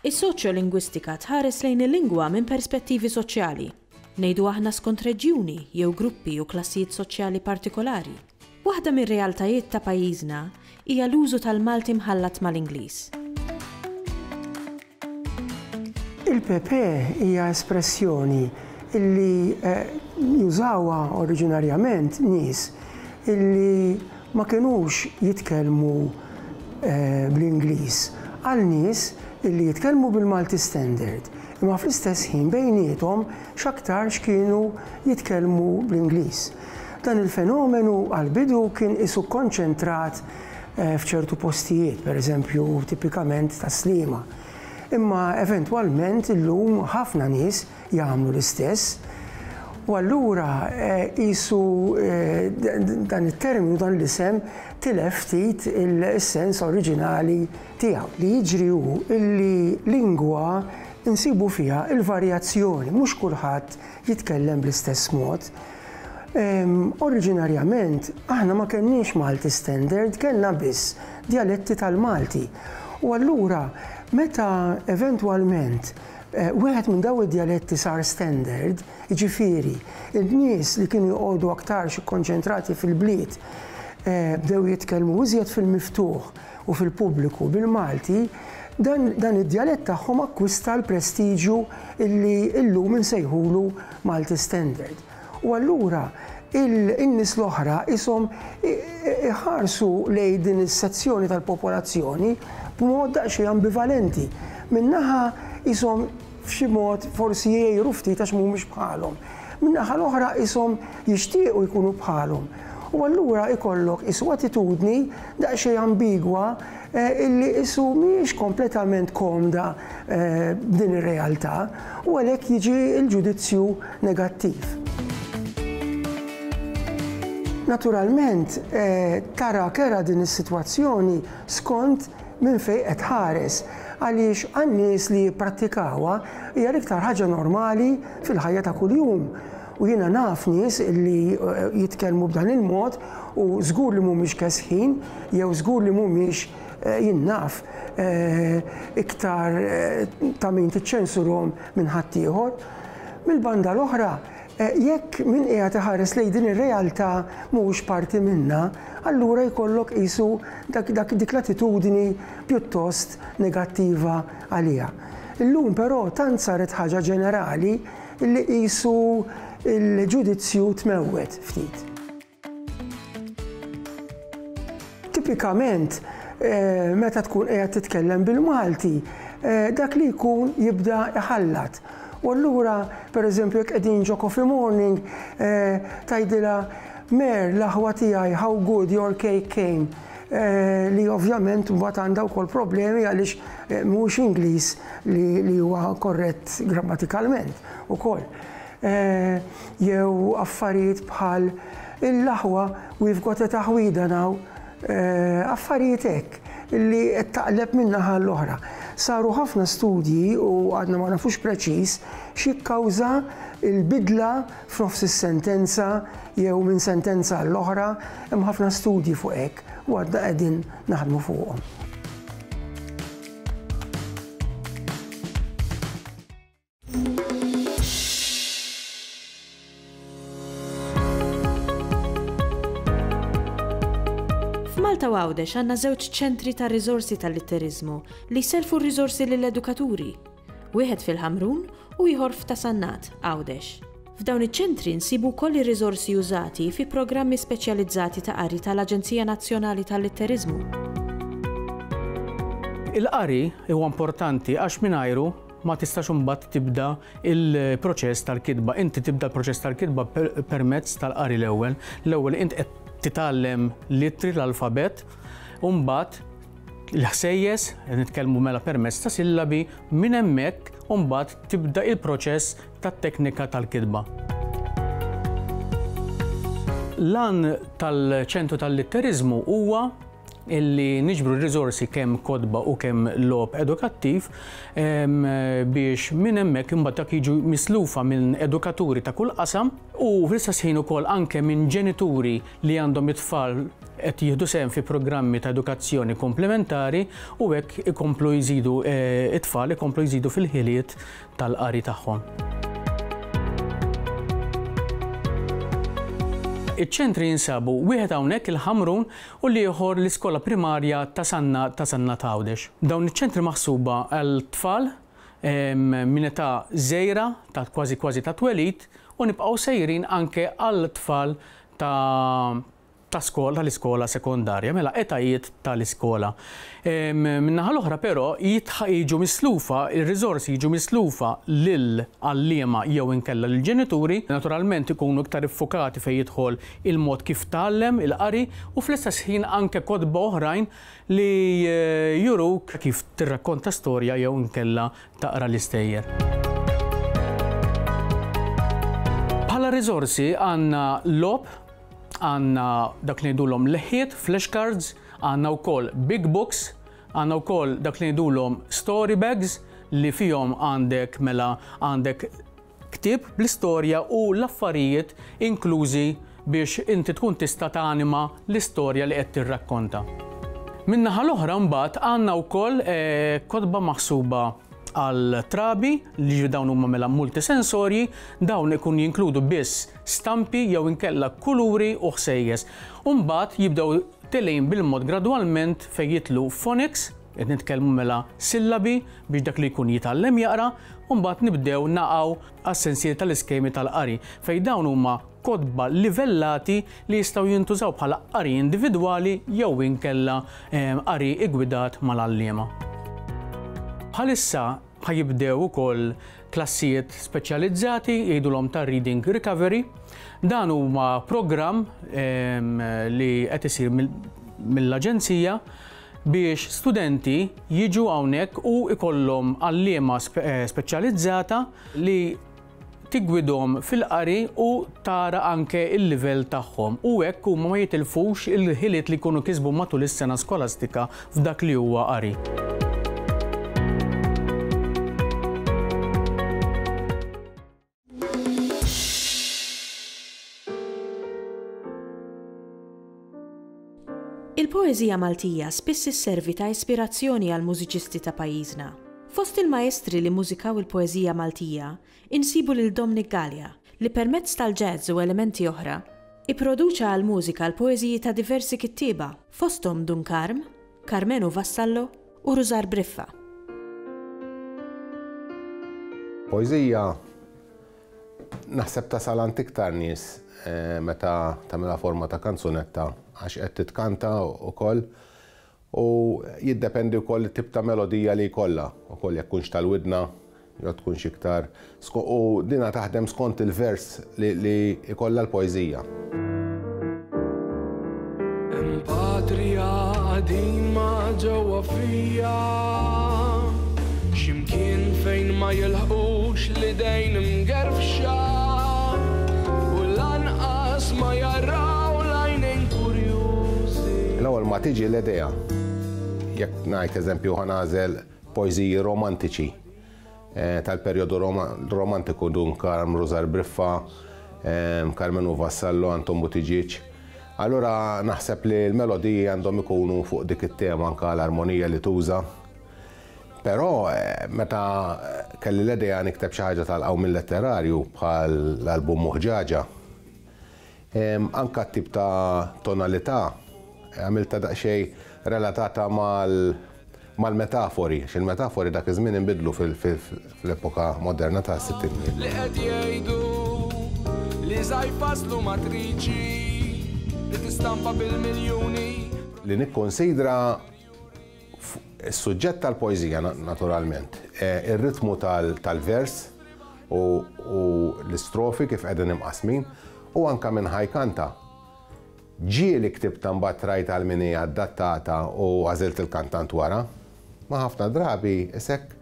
Is-soċjolingwistika tħares lejn il-lingwa minn perspettivi soċjali, ngħidu aħna skont reġjuni jew gruppi u klassijiet soċjali partikolari. Waħda mir-realtajiet ta' pajjiżna hija l-użu tal-Malti mħallat mal-Ingliż. Il-pepe hija espressjoni illi jużawha oriġinarjament nies illi ma kinux jitkellmu bl-Ingliż għal nies illi jitkellmu bil-Malti Standard imma fl-istess ħin bejniethom x'aktarx kienu jitkellmu bl-Ingliż. Dan il-fenomenu għall-bidu kien qisu kkonċentrat f'ċertu postijiet, pereżempju tipikament Tas-Sliema. Imma eventwalment illum ħafna nies jagħmlu l-istess. U allura qisu dan it-terminu, dan l-isem tilef ftit is-sens oriġinali tiegħu. Li jiġri hu illi lingwa nsibu fiha l-varjazzjoni, mhux kulħadd jitkellem bl-istess mod. Oriġinarjament aħna ma kellniex Malti Standard, kellna biss djaletti tal-Malti. U allura meta eventwalment Wieħed minn dawn id-djaletti sar standard, jiġifieri, in-nies li kienu joqogħdu aktarx ikkonċentrati fil-bliet bdew jitkellmu iżjed fil-miftuħ u fil-pubbliku bil-Malti, dan dan id-djalett tagħhom akkwista l-prestiġju illi llum insejħulu Malti Standard. U allura in-nies l-oħra qishom iħarsu lejn din is-sezzjoni tal-popolazzjoni b'mod daqsxejn ambivalenti. Minn naħa qishom f'xi mod forsi jgħiru ftit għax mhumiex bħalhom. Min-naħa l-oħra qishom jixtiequ jkunu bħalhom. U allura ikollok qisu attitudni daqsxejn ambigwa illi qisu mhijiex kompletament komda b'din ir-realtà u għalhekk jiġi l-ġudizzju negattiv. Naturalment tara kerha din is-sitwazzjoni skont minn fejn qed tħares għaliex għan-nies li jipprattikawha hija l-iktar ħaġa normali fil-ħajja ta' kuljum. U jiena naf nies li jitkellmu b'dan il-mod u żgur li mhumiex kesħin jew żgur li mhumiex jien naf iktar ta' min tiċċensurhom minn ħaddieħor. Mill-banda l-oħra, jekk min qiegħed iħares lejn din ir-realtà mhuwiex parti minnha, allura jkollok qisu dak dak dik l-attitudni pjuttost negattiva għaliha. Illum però tant saret ħaġa ġenerali li qisu l-ġudizzju tmewwet ftit. Tipikament, meta tkun qiegħed titkellem bil-Malti, dak li jkun jibda jħallat. U allura, pereżempju, jekk qegħdin ġo coffee morning, tgħidilha, Mer, l-aħwa tiegħi, how good your cake came. Li ovvjament mbagħad għandha wkoll problemi għaliex mhuwiex Ingliż li huwa korrett grammatikalment ukoll. Jew affarijiet bħal il-aħwa we've got a taħwida now, affarijiet hekk li qed taqleb minn naħa għall-oħra. Saru ħafna studji u għadna ma nafux preċiż x'jikkawża l-bidla f'nofs is-sentenza jew minn sentenza għall-oħra, hemm ħafna studji fuq hekk u għadna qegħdin naħdmu fuqhom. F'Malta u Għawdex għandna żewġ ċentri ta' riżorsi tal-litteriżmu li jsellfu r-riżorsi lill-edukaturi. Wieħed fil-Ħamrun u ieħor f'Ta' Sannat, Għawdex. F'dawn iċ-ċentri nsibu wkoll ir-riżorsi użati fi programmi speċjalizzati ta' qari tal-Aġenzija Nazzjonali tal-Litteriżmu. Il-qari huwa importanti għax mingħajru ma tistax imbagħad tibda l-proċess tal-kitba. Inti tibda l-proċess tal-kitba permezz tal-qari l-ewwel. L-ewwel int qed titgħallem l-ittri l-alfabett u mbagħad l-ħsejjes, qed nitkellmu mela permezz ta' sillabi, minn hemmhekk u mbagħad tibda il-proċess tat-teknika tal-kitba. L-għan tal-ċentru tal-litteriżmu huwa illi niġbru r-riżorsi kemm kotba u kemm logħob edukattiv biex minn hemmhekk imbagħad dak jiġu mislufa minn edukaturi ta' kull qasam u fl-istess ħin ukoll anke minn ġenituri li għandhom it-tfal qed jieħdu sehem fi programmi ta' edukazzjoni komplementari u hekk ikomplu jżidu it-tfal ikomplu jżidu fil-ħiliet tal-qari tagħhom. Iċ-ċentri jinsabu wieħed hawnhekk il-Ħamrun u l-ieħor l-iskola primarja ta' Sanna ta' Sannat Għawdex. Dawn iċ-ċentri maħsuba għal tfal minn età żgħira ta' kważi kważi ta' twelid u nibqgħu sejrin anke għal tfal ta' ta' skola tal-iskola sekondarja, mela etajiet tal-iskola. Min-naħa l-oħra però jiġu mislufa, ir-riżorsi jiġu mislufa lil għalliema jew inkella lill-ġenituri, naturalment ikunu iktar iffukati fejn jidħol il-mod kif tgħallem il-qari u fl-istess ħin anke kotba oħrajn li juruk kif tirrakkonta storja jew inkella taqra l-istejjer. Bħala riżorsi għandna logħob Għandna dak li ngħidulhom leħħiet, flashcards, għandna wkoll big books, għandna wkoll dak li ngħidulhom story bags li fihom għandek mela għandek ktieb bl-istorja u l-affarijiet inklużi biex inti tkun tista' tanima l-istorja li qed tirrakkonta. Min-naħa l-oħra mbagħad għandna wkoll kotba maħsuba għal trabi, li ġifieri dawn huma mela multisensorji, dawn ikun jinkludu biss stampi jew inkella kuluri u ħsejjes. U mbagħad jibdew telgħin bil-mod gradwalment fejn jidħlu phonics, qed nitkellmu mela sillabi biex dak li jkun jitgħallem jaqra, u mbagħad nibdew naqgħu għas-sensiela tal-iskemi tal-qari fejn dawn huma kotba livellati li jistgħu jintużaw bħala qari individwali jew inkella qari iggwidat mal-għalliema. Bħalissa ħa jibdew ukoll klassijiet speċjalizzati jgħidulhom ta' Reading Recovery. Dan huma programm li qed isir mill-aġenzija biex studenti jiġu hawnhekk u jkollhom għalliema speċjalizzata li tiggwidhom fil-qari u tara anke l-livell tagħhom u hekk huma ma jitilfux il-ħiliet li jkunu kisbu matul is-sena skolastika f'dak li huwa qari. Il-poeżija Maltija spiss isservi ta' ispirazzjoni għall-mużiċisti ta' pajjiżna. Fost il-maestri li mmużikaw il-poeżija Maltija, insibu lil Dominic Galea, li permezz tal-jazz u elementi oħra, ipproduċa għall-mużika l-poeżiji ta' diversi kittieba, fosthom Dun Karm, Karmenu Vassallo u Rużar Briffa. Poeżija naħseb tasal għand iktar nies meta tagħmilha forma ta' kanzunetta għax qed titkanta wkoll u jiddependi wkoll it-tip ta' melodija li jkollha wkoll jekk tkunx tal-widna jew tkunx iktar u dina taħdem skont il-vers li jkollha l-poeżija. Hemm patrija qadima ġewwa fija X'imkien fejn ma jilħqux l-idejn imgerfxa U lanqas ma jaraw l-għajnejn kurjużi. L-ewwel ma tiġi l-idea, jekk ngħid eżempju ħa nagħżel poeżiji romantiċi tal-perjodu romantiku Dun Karm, Rużar Briffa, Karmenu Vassallo, Anton Buttigieg. Allura naħseb li l-melodiji għandhom ikunu fuq dik it-tema anke l-armonija li tuża. Però meta kelli l-idea nikteb xi ħaġa tal-qawmien letterarju bħal l-album Muħġaġa, Anke t-tip ta' tonalità għamiltha daqsxejn relatata mal-metafori, għax il-metafori dak iż-żmien inbidlu fl-epoka moderna tas-sittinijiet. Li qed jgħidu li sa jfasslu matriċi li tistampa bil-miljuni. Li nikkunsidra Is-suġġett tal-poeżija naturalment, ir-ritmu tal-vers u l-istrofi kif qegħdin imqassmin u anke min ħa jkanta. Ġieli ktibtha mbagħad rajt għal min hi adattata u għażilt il-kantant wara. Ma ħafna drabi isek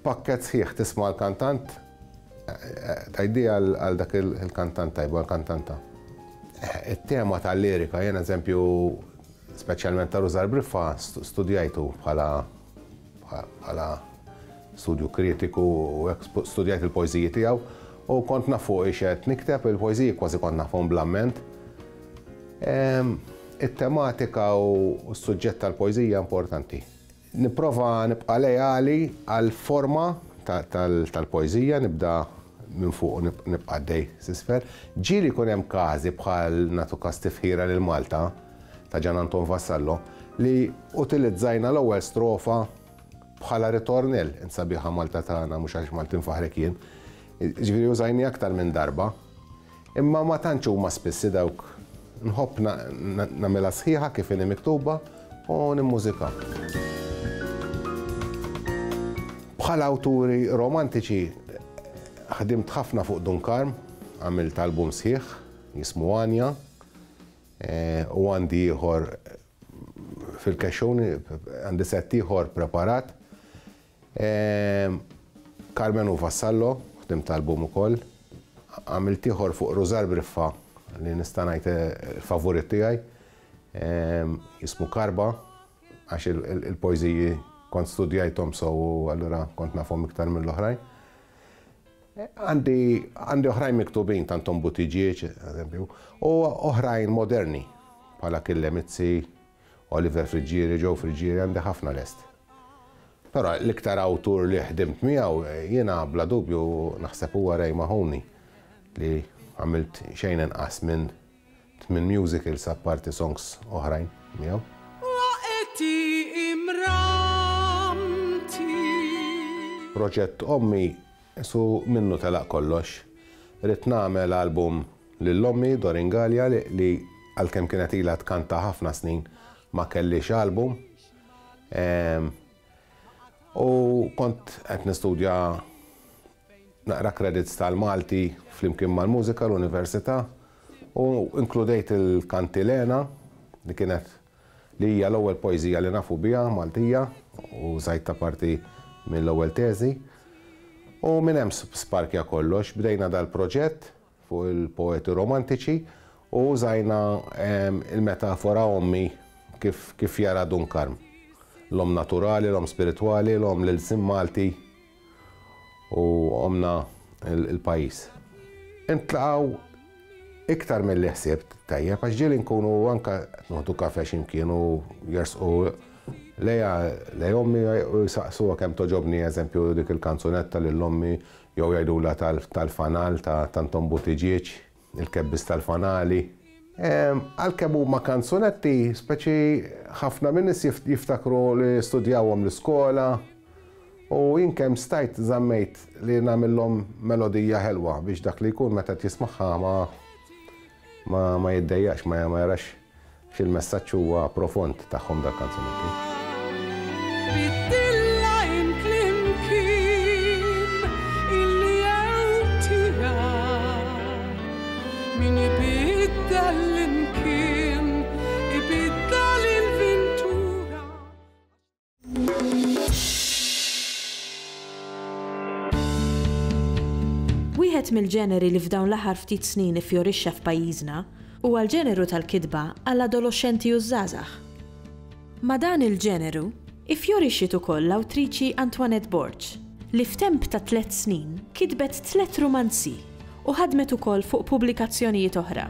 pakkett sħiħ tisma' l-kantant tgħid di għal dak il-kantant tajba, għall-kantanta. It-tema tal-lirika jien eżempju. Speċjalment ta' Rużar Briffa studjajtu bħala bħala studju kritiku u hekk studjajt il-poeżiji tiegħu u kont naf fuq ix qed nikteb il-poeżiji kważi kont nafhom bl-amment. It-tematika u s-suġġett tal-poeżija importanti. Nipprova nibqa' leali għall-forma tal-poeżija, nibda minn fuq u nibqa' għaddej s'isfel. Ġieli jkun hemm każi bħal nagħtu każ Tifħira lil Malta ta' Gian Anton Vassallo li utilizzajna l-ewwel strofa bħala ritornell, Int sabiħa Malta tagħna mhux għax Malti nfaħħrek jien. Jiġifieri użajniha aktar minn darba. Imma ma tantx huma spissi dawk. Nħobb nagħmilha sħiħa kif inhi miktuba u nimmużika. Bħala awturi romantiċi ħdimt ħafna fuq Dun Karm, għamilt album sħiħ jismu Għanja u għandi ieħor fil-kexxun, għandi sett ieħor preparat. Carmenu Vassallo, ħdimt album ukoll. Għamilt ieħor fuq Rużar Briffa li nista' ngħid il-favorit tiegħi. Jismu Karba għax il-poeżiji kont studjajthom sew u allura kont nafhom iktar mill-oħrajn. Għandi għandi oħrajn miktubin ta' Anton Buttigieg, eżempju, u oħrajn moderni bħala Kille Mizzi, Oliver Friggieri, Joe Friggieri, għandi ħafna lest. Però l-iktar awtur li ħdimt miegħu jiena bla dubju naħseb huwa Ray Mahoney li għamilt xejn inqas minn tmien musicals apparti songs oħrajn miegħu. Waqti imramti. Proġett Ommi qisu minnu telaq kollox. Ridt nagħmel album lil ommi, Doreen Galea, li għalkemm kienet ilha tkanta ħafna snin ma kellhiex album. U kont qed nistudja naqra credits tal-Malti flimkien mal-mużika l-università u inkludejt il-Kantilena li kienet li hija l-ewwel poeżija li nafu biha Maltija u użajtha parti mill-ewwel teżi. U minn hemm sparkja kollox, bdejna dal-proġett fuq il-poeti romantiċi u użajna il-metafora ommi kif kif jara Dun Karm. L-omm naturali, l-omm spiritwali, l-omm l-ilsien Malti u ommna l-pajjiż. Intlaqgħu iktar milli ħsibt tajjeb għax ġieli nkunu anke qed noħdu kafè xi mkien u jersqu lejha lejn ommi u jsaqsuha kemm togħġobni eżempju dik il-kanzunetta lil ommi Jew jgħidulha tal-fanal ta' Anton Buttigieg, il-kebbis tal-fanali. Għalkemm huma kanzunetti, speċi ħafna min-nies jiftakru li studjawhom l-iskola u jien kemm stajt żammejt li nagħmilhom melodija ħelwa biex dak li jkun meta qed jismagħha ma ma jiddejjaqx, ma jarax Għax il-messaġġ huwa profond tagħhom dal-kanzunetti. Biddilha int l-imkien illi jew tiegħek. Min ibiddel l-imkien ibiddel il-vintura. Wieħed mill-ġeneri li f'dawn l-aħħar ftit snin iffjorixxa f'pajjiżna huwa l-ġeneru tal-kitba għall-adoloxxenti u ż-żgħażagħ. Ma' dan il-ġeneru iffjorixxiet ukoll l-awtriċi Antoinette Borg, li f'temp ta' tlett snin kitbet tlett rumanzi u ħadmet ukoll fuq pubblikazzjonijiet oħra.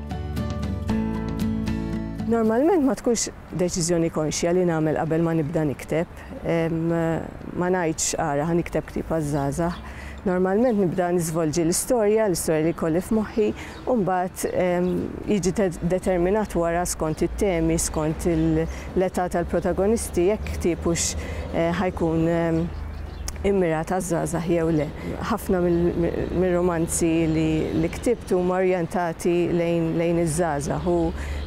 Normalment ma tkunx deċiżjoni konxja li nagħmel qabel ma nibda nikteb. Ma ngħidx ara ħa nikteb ktieb għaż-żgħażagħ. Normalment nibda niżvolġi l-istorja, l-istorja li jkolli f'moħħi, u mbagħad jiġi determinat wara skont it-temi, skont l-età tal-protagonisti jekk ktieb hux ħa jkun immirat għaż-żgħażagħ jew le. Ħafna mir-rumanzi li ktibt huma orjentati lejn iż-żgħażagħ u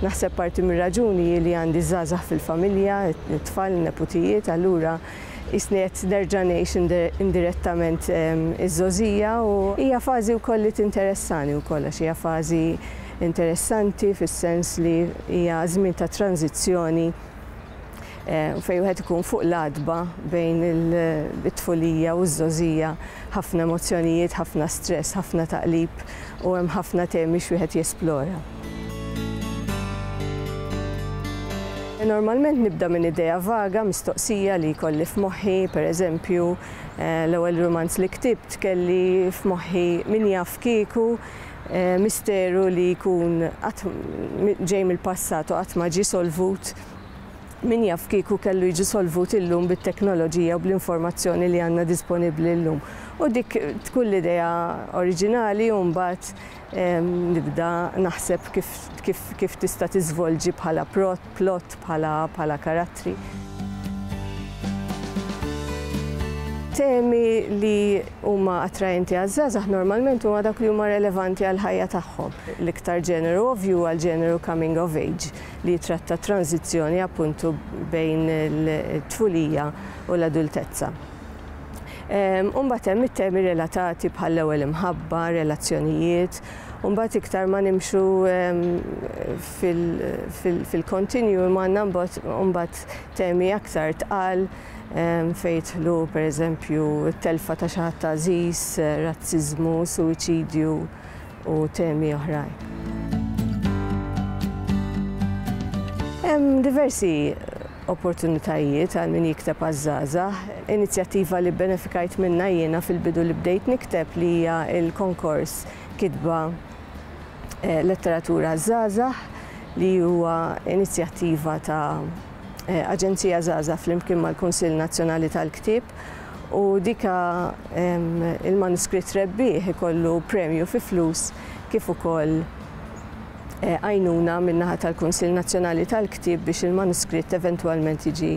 naħseb parti mir-raġuni hi li għandi żgħażagħ fil-familja, it-tfal, in-neputijiet, allura qisni qed nerġa' ngħix indirettament iż-żgħożija u hija fażi wkoll li tinteressani wkoll għax hija fażi interessanti fis-sens li hija żmien ta' tranżizzjoni fejn wieħed ikun fuq l-għatba bejn it-tfulija u ż-żgħożija, ħafna emozzjonijiet, ħafna stress, ħafna taqlib u hemm ħafna temi x'wieħed jesplora. Normalment nibda minn idea vaga, mistoqsija li jkolli f'moħħi, pereżempju, l-ewwel rumanz li ktibt kelli f'moħħi min jaf kieku misteru li jkun qatt ġej mill-passat u qatt ma ġie solvut, min jaf kieku kellu jiġi solvut illum bit-teknoloġija u bl-informazzjoni li għandna disponibbli llum. U dik tkun l-idea oriġinali u mbagħad nibda naħseb kif, kif, kif tista' tiżvolġi bħala plot, bħala, bħala karattri. Temi li huma attraenti għaż-żgħażagħ normalment huma dawk li huma relevanti għall-ħajja tagħhom. L-iktar ġeneru ovvju huwa l-ġeneru coming of age li jitratta t-tranżizzjoni appuntu bejn it-tfulija u l-adultezza. U mbagħad hemm it-temi relatati bħall-ewwel imħabba, relazzjonijiet, u mbagħad iktar ma nimxu fil-continuum għandna mbagħad temi aktar tqal fejn jidħlu pereżempju t-telfa ta' xi ħadd għażiż, razziżmu, suwiċidju u temi oħrajn. Hemm diversi opportunitajiet għal min jikteb għaż-żgħażagħ. Inizjattiva li bbenefikajt minnha jiena fil-bidu li bdejt nikteb li hija l-konkors Kitba Letteratura għaż-Żgħażagħ li huwa inizjattiva ta' Aġenzija Żgħażagħ flimkien mal-Kunsill Nazzjonali tal-Ktieb u dika il-manuskritt rebbieħ ikollu premju fi flus kif ukoll għajnuna min-naħa tal-Kunsill Nazzjonali tal-Ktieb biex il-manuskritt eventwalment jiġi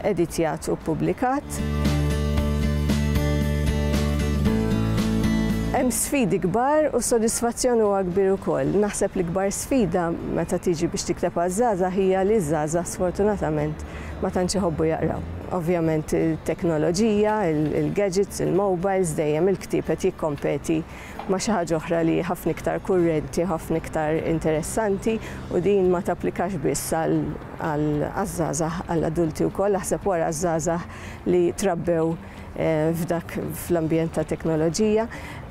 editjat u ppubblikat. Hemm sfidi kbar u s-sodisfazzjon huwa kbir ukoll. Naħseb l-ikbar sfida meta tiġi biex tikteb għaż-żgħażagħ hija li ż-żgħażagħ sfortunatament ma tantx iħobbu jaqraw. Ovvjament it-teknoloġija, il-gadgets, il-mobiles, dejjem il-ktieb qed jikkompeti ma' xi ħaġa oħra li hi ħafna iktar kurrenti, ħafna iktar interessanti u din ma tapplikax biss għaż-żgħażagħ, għall-adulti wkoll, aħseb wara ż-żgħażagħ li trabbew f'dak fl-ambjent ta' teknoloġija.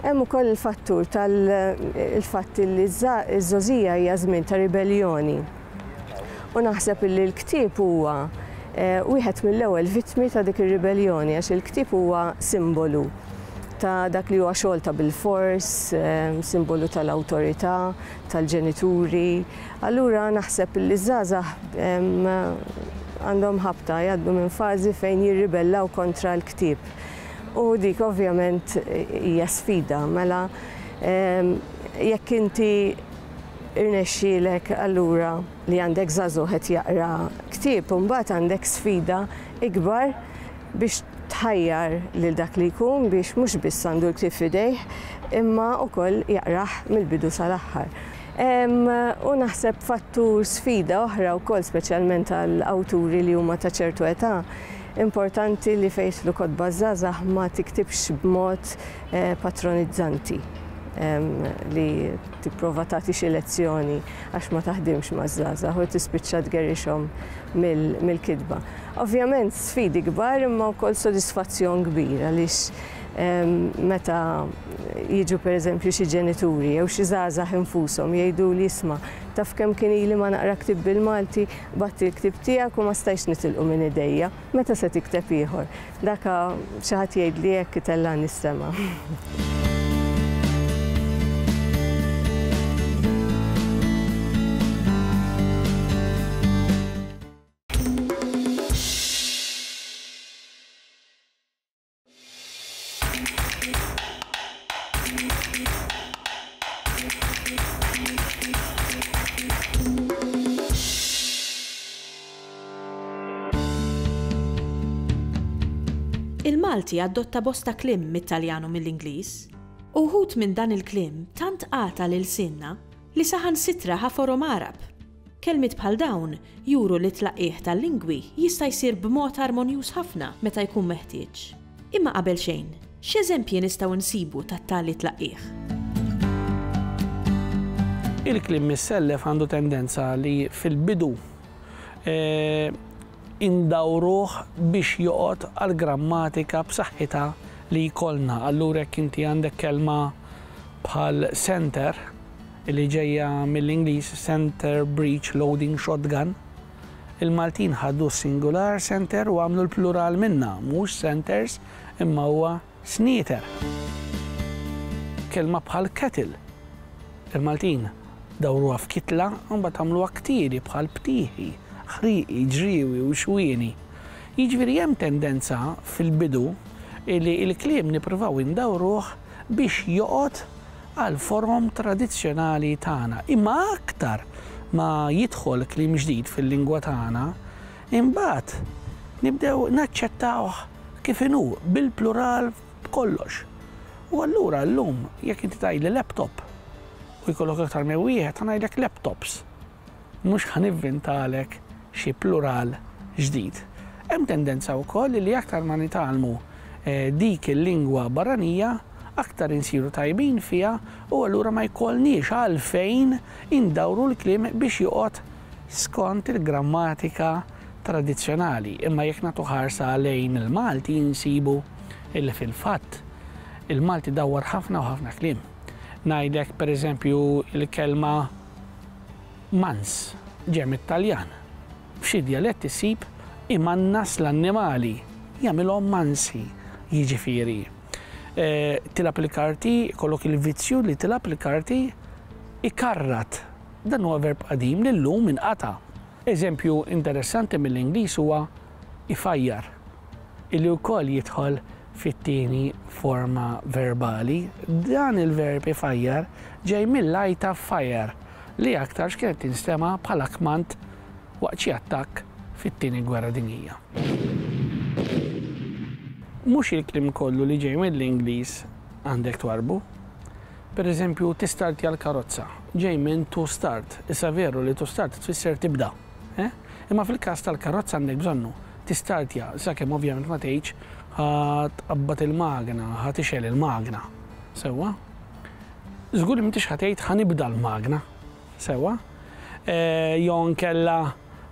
Hemm ukoll il-fattur tal-fatt li ż-żgħożija hija żmien ta' ribelljoni. U naħseb illi l-ktieb huwa wieħed mill-ewwel vittmi ta' dik ir-ribelljoni għax il-ktieb huwa simbolu ta' dak li huwa xogħol ta' bilfors, simbolu tal-awtorità, tal-ġenituri. Allura naħseb li ż-żgħażagħ għandhom ħabta jgħaddu minn fażi fejn jirribellaw kontra l-ktieb. U dik ovvjament hija sfida, mela jekk inti irnexxielek allura li għandek żagħżugħ qed jaqra ktieb u mbagħad għandek sfida ikbar biex tħajjar lil dak li jkun biex mhux biss għandu l-ktieb f'idejh imma wkoll jaqrah mill-bidu sal-aħħar. U naħseb fattur sfida oħra wkoll speċjalment għal awturi li huma ta' ċertu età, importanti li fejn jidħlu kotba żgħażagħ ma tiktibx b'mod patronizzanti li tipprova tagħti xi lezzjoni għax ma taħdimx maż-żgħażagħ u tispiċċa tgerrixhom mill-kitba. Ovvjament sfidi kbar imma wkoll sodisfazzjon kbir għaliex meta jiġu pereżempju xi ġenituri jew xi żgħażagħ infushom jgħiduli isma' taf kemm kien ili ma naqra ktieb bil-Malti, bgħatt il-ktieb tiegħek u ma stajtx nitilqu minn idejja, meta se tikteb ieħor? Daka xi ħadd jgħidli hekk itellagħni s-sema. Il-Malti adotta bosta kliem mit-Taljan u mill-Ingliż. Uħud minn dan il-kliem tant qata' lil lsienna li saħansitra ħa forom Għarab. Kelmiet bħal dawn juru li t-tlaqqigħ tal-lingwi jista' jsir b'mod armonjuż ħafna meta jkun meħtieġ. Imma qabel xejn, x'eżempji nistgħu nsibu ta' tali tlaqqigħ? Il-kliem missellef għandu tendenza li fil-bidu indawruh biex joqgħod għall-grammatika b'saħħitha li jkollna. Allura jekk inti għandek kelma bħal center, li ġejja mill-Ingliż center breech loading shotgun, Il-Maltin ħadu s-singular center u għamlu l-plural minnha, mhux centers imma huwa snieter. Kelma bħal kettle, il-Maltin dawruha f'kitla u mbagħad għamluha ktieri bħal btieħi, ħrieqi, ġriewi u xwieni. Jiġifieri hemm tendenza fil-bidu li l-kliem nippruvaw indawruh biex joqgħod għall-forom tradizzjonali tagħna. Imma aktar ma jidħol kliem ġdid fil-lingwa tagħna, imbagħad nibdew naċċettawh kif inhu, bil-plural b'kollox. U allura llum jekk inti tgħidli laptop u jkollok aktar minn wieħed, ħa ngħidlek laptops. Mhux ħa nivvintalek xi plural ġdid. Hemm tendenza wkoll li aktar ma nitgħallmu dik il-lingwa barranija, aktar insiru tajbin fiha u allura ma jkollniex għalfejn indawru l-kliem biex joqgħod skont il-grammatika tradizzjonali. Imma jekk nagħtu ħarsa lejn il-Malti insibu illi fil-fatt il-Malti dawwar ħafna u ħafna kliem. Ngħidlek pereżempju l-kelma Mans ġej mit-Taljan. F'xi djalett issib imannas l-annimali, jagħmilhom mansi, jiġifieri. Tilgħab il-karti, ikollok il-vizzju li tilgħab il-karti, ikarrat. Dan huwa verb qadim li llum inqata'. Eżempju interessanti mill-Ingliż huwa ifajjar, illi wkoll jidħol fit-tieni forma verbali. Dan il-verb ifajjar ġej mill-għajta fire li aktarx kienet tinstema' bħala kmand waqt xi attakk fit-Tieni Gwerra Dinjija. Mhux il-kliem kollu li ġej mill-Ingliż għandek twarrbu. Per eżempju, tistartja l-karozza ġej minn to start. Issa veru li to start tfisser tibda. Eh? Imma fil-każ tal-karozza għandek bżonnu tistartja, sakemm ovvjament ma tgħidx ħa tqabbad il-magna, ħa tixgħel il-magna. Sewwa? Żgur li m'intix ħa tgħid ħa nibda l-magna. Sewwa? Jew inkella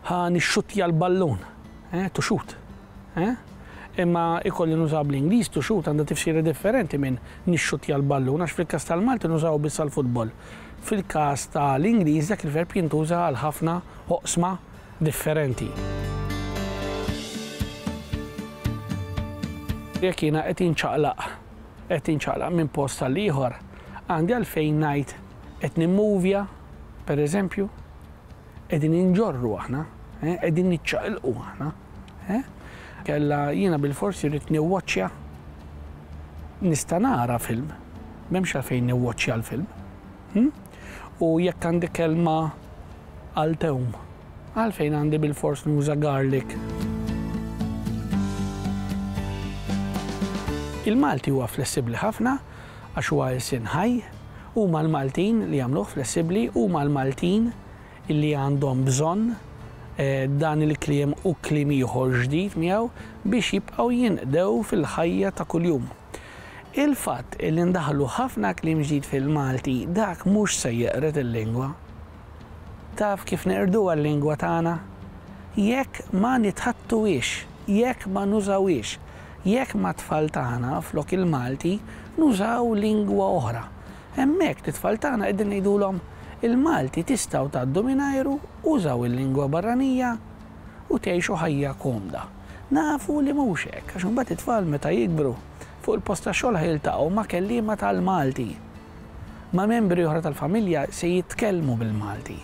ħa nixxuttja l-ballun. Eh, to shoot. Eh? Imma ikolli nużaw bl-Ingliż to shoot għandha tifsira differenti minn nixxuttja l-ballun għax fil-każ tal-Malti nużaw biss għall-futbol. Fil-każ tal-Ingliż dak il-verb jintuża għal ħafna oqsma differenti. Jekk jiena qed inċaqlaq, qed inċaqlaq minn post għal ieħor, għandi għalfejn ngħid qed nimmuvja, per eżempju, qegħdin inġorru aħna, eh, qegħdin niċċaqilqu aħna. Eh? Kella jiena bilfors irrid niwwaċċja nista' nara film, m'hemmx għalfejn niwwaċċja l-film. Hmm? U jekk għandi kelma għal tewm, għalfejn għandi bilfors nuża garlic? Il-Malti huwa flessibbli ħafna għax huwa ilsien ħaj, huma l-Maltin li jagħmluh flessibbli, huma l-Maltin li għandhom bżonn dan il-kliem u kliem ieħor ġdid miegħu biex jibqgħu jinqdew fil-ħajja ta' kuljum. Il-fatt li ndaħħlu ħafna kliem ġdid fil-Malti dak mhux se jeqred il-lingwa. Taf kif neqrduha l-lingwa tagħna? Jekk ma nitħaddtuhiex, jekk ma nużawhiex, jekk mat-tfal tagħna flok il-Malti nużaw lingwa oħra. Hemmhekk lit-tfal tagħna qegħdin ngħidulhom il-Malti tistgħu tgħaddu mingħajru, użaw il-lingwa barranija u tgħixu ħajja komda. Nafu li mhux hekk, għax imbagħad it-tfal meta jikbru, fuq il-post tax-xogħol ħa jiltaqgħu ma' kelliema tal-Malti. Ma' membri oħra tal-familja se jitkellmu bil-Malti.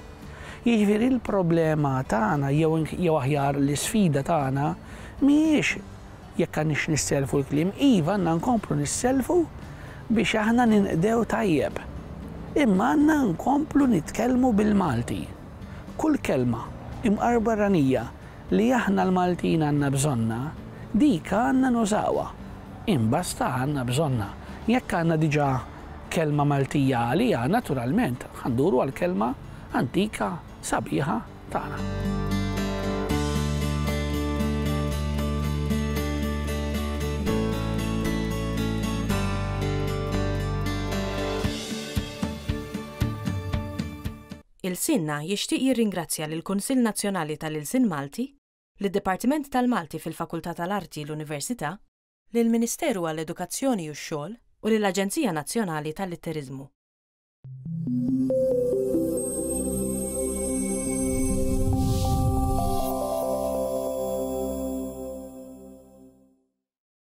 Jiġifieri l-problema tagħna jew jew aħjar l-isfida tagħna mhijiex jekk għandniex nissellfu l-kliem, iva għandna nkomplu nissellfu biex aħna ninqdew tajjeb. Imma għandna nkomplu nitkellmu bil-Malti. Kull kelma, imqar barranija, li aħna l-Maltin għandna bżonnha, dik għandna nużawha. Imbasta għandna bżonnha. Jekk għandna diġà kelma Maltija għaliha, naturalment ħa nduru għall-kelma antika sabiħa tagħna. Ilsienna jixtieq jirringrazzja lill-Kunsill Nazzjonali tal-Ilsien Malti, lid-Dipartiment tal-Malti fil-Fakultà tal-Arti, l-Università, lill-Ministeru għall-Edukazzjoni u x-Xogħol u lill-Aġenzija Nazzjonali tal-Litteriżmu.